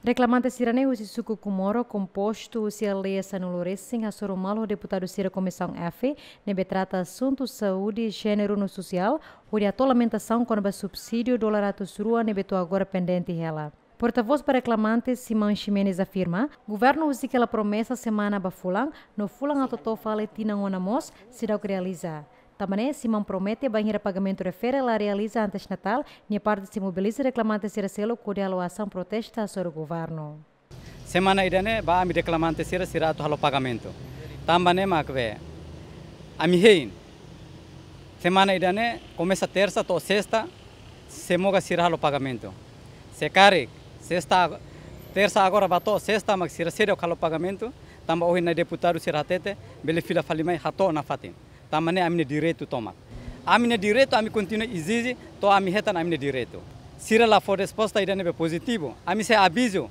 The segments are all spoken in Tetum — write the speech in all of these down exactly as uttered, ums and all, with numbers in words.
Reklamante sira-ne'e husi suku Comoro, kompostu husi aldeia sanulu resin, hasoru malu ho deputadu sira Komisaun F, ne'ebé trata asuntu saúde, jéneru no sosiál, hodi hato'o lamentasaun kona-ba subsídiu dolar atus rua ne'ebé to'o agora pendente hela. Portavós ba reklamante, Simão Ximenes, afirma, governu husik hela promesa semana ba fulan, no fulan atu to'o fali tinan ona mós seidauk realiza. Tanba ne'e, Simão promete bainhira pagamentu refere la realiza antes Natál, nia parte sei mobiliza reklamante sira seluk hodi halo asaun protesta hasoru governu. Semana ida-ne'e ba ami reklamante sira, sira atu halo pagamentu. Tanba ne'e mak be ami hein. Semana ida-ne'e komesa tersa to'o sesta, semoga sira halo pagamentu. Se karik sesta, tersa agora ba to'o sesta mak sira seidauk halo pagamentu, tanba ohin nia deputadu sira hatete, bele fila fali mai hato'o nafatin. Tanba ne'e ami-nia direitu tomak. Ami-nia direitu ami kontinua ezije, to'o ami hetan ami-nia direitu. Sira la fó resposta ida ne'ebé pozitivu. Ami sei avizu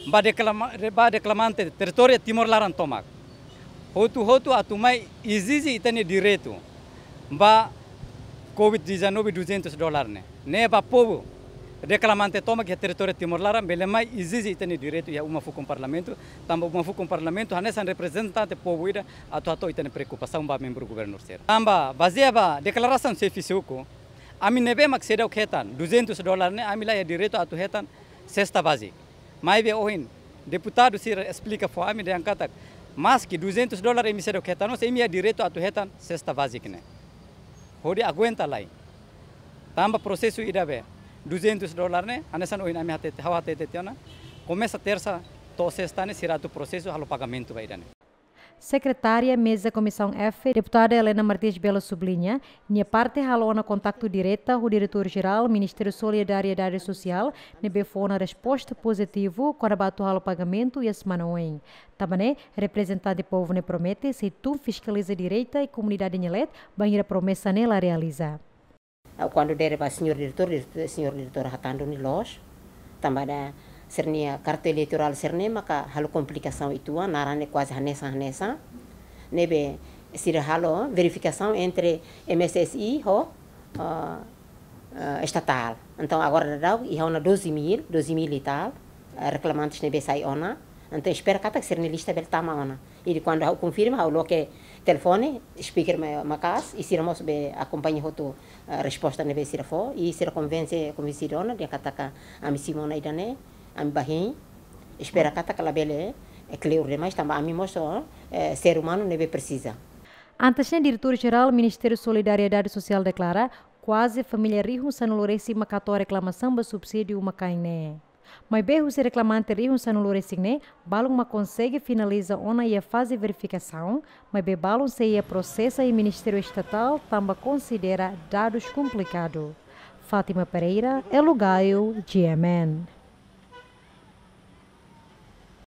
ba reklama-, ba reklamante territóriu Timor laran tomak. Hotu-hotu atu mai ezije ita-nia direitu ba covid dezanove duzentus dolar ne'e. Ne'e ba povu reklamante tomak iha territóriu Timor laran bele mai ezije ita-nia direitu iha uma fukun parlamentu, tanba uma fukun parlamentu hanesan reprezentante povu ida atu hato'o ita-nia preokupasaun ba membru governu sira. Tanba bazeia ba deklarasaun xefe suku, ami ne'ebé mak seidauk hetan duzentus dolar ne'e, ami la iha direitu atu hetan sesta bázika. Maibé ohin deputadu sira esplika fó ami dehan katak, maski duzentus dolar imi seidauk hetan, mas imi iha direitu atu hetan sesta bázika ne'e. Hodi aguenta lai. Tanba prosesu ida be duzentus dolar ne'e, hanesan ohin ami hatete, ha'u hatete tiha ona, komesa tersa to'o sesta ne'e sira atu prosesu halo pagamentu ba ida ne'e. Sekretária Meza Komisaun F, deputada Helena Martins Belo subliña, nia parte halo ona kontaktu direta ho Diretór Jerál Ministériu Solidariedade Sosiál, ne'ebé fó ona resposta pozitivu kona-ba atu halo pagamentu iha semana oin. Tanba ne'e, reprezentante povu ne'e promete sei tun fiskaliza direta i komunidade nia leet, bainhira promesa ne'e la realiza. Ah, kuandu dere ba señór diretór, diretór, señór diretór hatán duni loos. Tanba ida sira-nia karta eleitorál sira-ne'e maka halo komplikasaun uitoan, naran ne'e kuaze hanesan-hanesan. Ne'ebé sira halo verifikasaun entre M S S I ho, ah, ah, estatál. Entaun agora daudaun iha ona doze mil, doze mil e tal, ah, reklamantes ne'ebé sai ona. Entaun espera katak sira-nia lista bele tama ona. I depois kuandu ha'u konfirma, ha'u loke telefone, speaker ma-, maka'as, i sira mós be akompaña hotu, eh, resposta ne'ebé sira fó, i sira konvense, konvensidu ona, dehan katak ami simu ona ida-ne'e, ami ba hein, espera katak labele, eh, kleur demais, tanba ami mós, eh, ser umanu ne'ebé presiza. Antes ne'e, Diretór Jerál Ministériu Solidariedade Sosiál deklara, kuaze família rihun sanulu resin mak hato'o reklamasaun ba subsídiu uma-kain ne'e. Maibé husi reklamante rihun sanulu resin ne'e, balun mak konsege finaliza ona iha faze verifikasaun, maibé balun sei iha prosesa iha Ministériu Estatál tanba konsidera dadus komplikadu. Fátima Pereira, Elo Gaio, G M N.